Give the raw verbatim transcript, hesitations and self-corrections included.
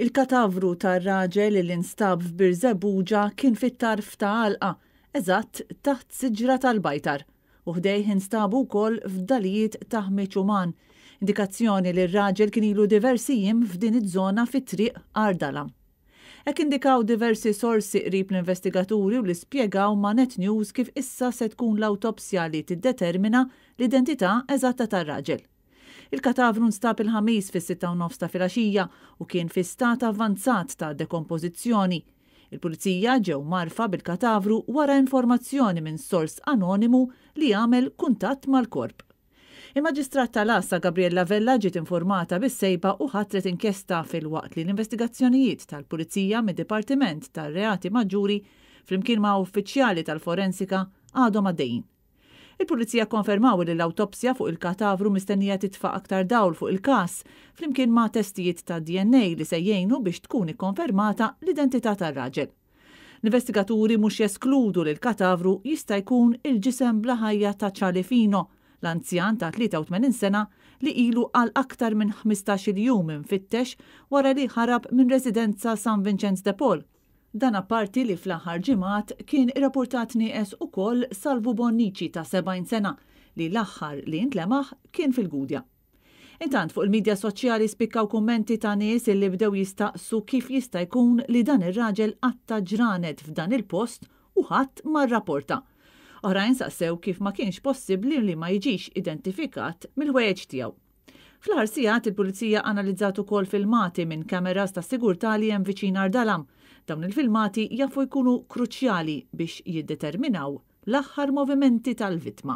Il-katavru tar-raġel li nstab f'Birżebbuġa kien fit-tarf ta' għalqa, eżatt taħt siġra tal-bajtar, u ħdejh instabu wkoll fdalijiet ta' ħmieġ uman, indikazzjoni li r-raġel kien ilu diversi jiem f'din iż-żona fi Triq Għar Dalam. Hekk indikaw diversi sorsi qrib l-investigaturi u li spjegaw ma' Net News kif issa se tkun l-awtopsja li tiddetermina l-identità eżatta tar-raġel. Il-katavru nstab il-Ħamis fis-sitta u nofs ta' filgħaxija u kien fi stat avvanzat ta' dekompożizzjoni. Il-pulizija ġew mgħarrfa bil-katavru wara informazzjoni minn sors anonimu li għamel kuntatt mal-korp. Il-Maġistrat tal-Għassa Gabriella Vella ġiet informata bis-sejba u ħatret inkjesta, filwaqt li l-investigazzjonijiet tal-Pulizija mid-Dipartiment tar-Reati Maġġuri flimkien ma' uffiċjali tal-forensika għadhom għaddejjin. Il-Pulizija konfermaw li l-awtopsja fuq il-katavru mistennija titfa' aktar dawl fuq il-każ, flimkien ma' testijiet ta' D N A li se jgħinu biex tkun ikkonfermata l-identità tar-raġel. L-investigaturi mhux jeskludu li l-katavru jista' jkun il-ġisem bla ħajja ta' Charlie Fino, l-anzjan ta' tlieta u tmenin sena li ilu għal aktar minn ħmistax-il jum infittex wara li ħarab minn residenza San Vincenz de Paul. Dan apparti li fl-aħħar ġimgħat kien irrapportat nieqes ukoll Salvu Bonnici ta' sebgħin sena li l-aħħar li intlemaħ kien fil-Gudja. Intant, fuq il-medja soċjali spikkaw kummenti ta' nies li bdew jistaqsu kif jista' jkun li dan ir-raġel qatta' ġranet f'dan il-post u ħadd ma rrapporta. Oħrajn saqsew kif ma kienx possibbli li ma jiġix identifikat mill-ħwejjeġ tiegħu. Fl-aħħar sigħat il-Pulizija analizzat ukoll filmati minn kameras ta' sigurtà li hemm viċin Għar Dalam. Dawn il-filmati jafu jkunu kruċjali biex jiddeterminaw l-aħħar movimenti tal-vittma.